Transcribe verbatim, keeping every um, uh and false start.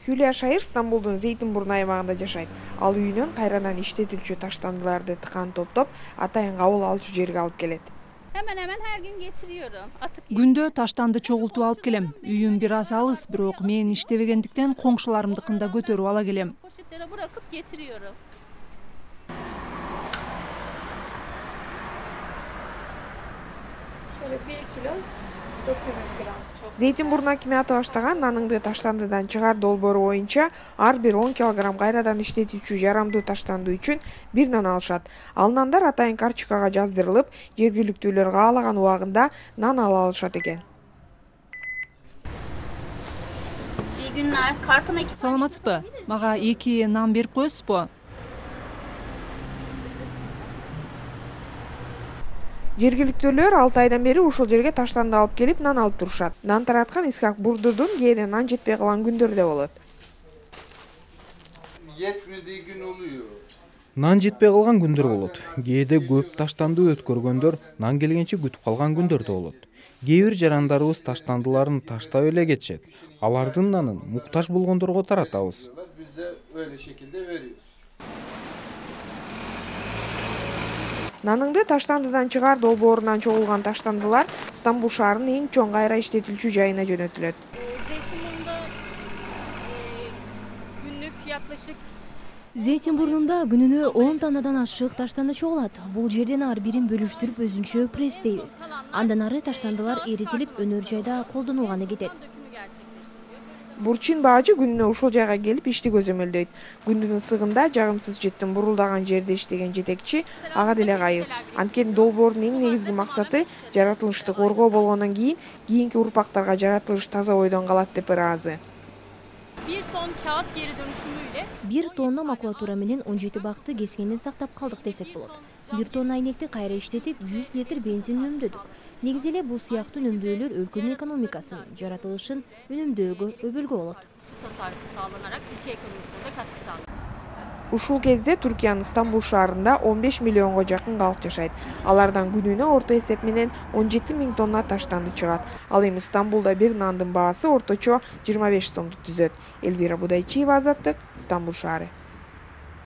Хюлия Шайыр Стамбулдун Зейтинбурну аймагында жашайт. Ал үйүнөн кайрадан иштетилчү таштандыларды тыкан топтоп, атайын кабыл алчу жерге алып келет. Hemen hemen her gün getiriyorum. Atıp Күндө таштанды чогултуп алып келем. Үйүм бир аз алыс, бирок мен иштебегендиктен коңшуларымдыкында көтөрүп ала келем. poşetlere bırakıp getiriyorum. Şöyle bir kilo dokuz yüz gram. Çok Зейтинбурн акиматы баштаган наныңды таштандыдан чыгар долбоору боюнча ар бир он килограмм кайрадан иштетүүчү жарамдуу таштанды үчүн бир нан алышат. Ал нандар атайын карточкага жаздырылып, жергиликтүүлөр каалаган убагында нан ала алышат экен. İyi günler. Kartıma iki Саламатсызбы? Мага эки нан берип коесузбу? Жергиликтүүлөр алты айдан бери ушул жерге таштанды алып келип нан алып турушат. Нан тараткан Исхак Бурдурдун кээде нан жетпей калган күндөрү да болот. Yetmediği gün oluyor. Нан жетпей калган күндөр болот. Кээде көп таштанды өткөргөндөр нан келгенче күтүп калган күндөр да болот. Кээ бир жарандарыбыз таштандыларын таштап эле кетишет. Алардын нанын муктаж болгондорго таратабыз. Biz de öyle şekilde veriyoruz. Наныңды таштандыдан чыгар долбоорунан чогулган таштандылар Стамбул шаарынын эң чоң кайра иштетилчү жайына жөнөтүлөт. Zeytinburnu'nda e, günlük yaklaşık Зейтинбурнунда күнүнө он тоннадан ашык таштанды чогулат. Бул жерден ар бирин бөлүштүрүп өзүнчө пресстейбиз. Андан ары таштандылар эритилип өнөр жайда колдонулганы кетет. dökümü gerçekleştiriyor. Бурчин Баажы күнүнө ушул жайга келип ишти көзөмөлдөйт. Күндүн ысыгында жагымсыз жыттын бурулдаган жерде иштеген жетекчи ага деле кайыл. Анткени долбоордун эң негизги максаты жаратылышты коргоо болгондон кийин кийинки урпактарга жаратылыш таза бойдон калат деп ыраазы. Bir ton kağıt geri dönüşümüyle Бир тонна макулатура менен он жети бакты кескенден сактап калдык десек болот. Бир тонна айнекти кайра иштетип жүз литр бензин үнөмдөдүк. Негизи эле бул сыяктуу үнөмдөөлөр өлкөнүн экономикасын, жаратылышын үнөмдөөгө өбөлгө болот. su tasarrufu sağlanarak ülke ekonomisine de katkı sağlanıyor. Ушул кезде Түркиянын Стамбул шаарында он беш миллионго жакын калк жашайт. Алардан күнүнө орто эсеп менен он жети миң тонна таштанды чыгат. Ал эми Стамбулда бир нандын баасы орточо жыйырма беш сомду түзөт. Элвира Будайчиева, Азаттык, Стамбул шаары.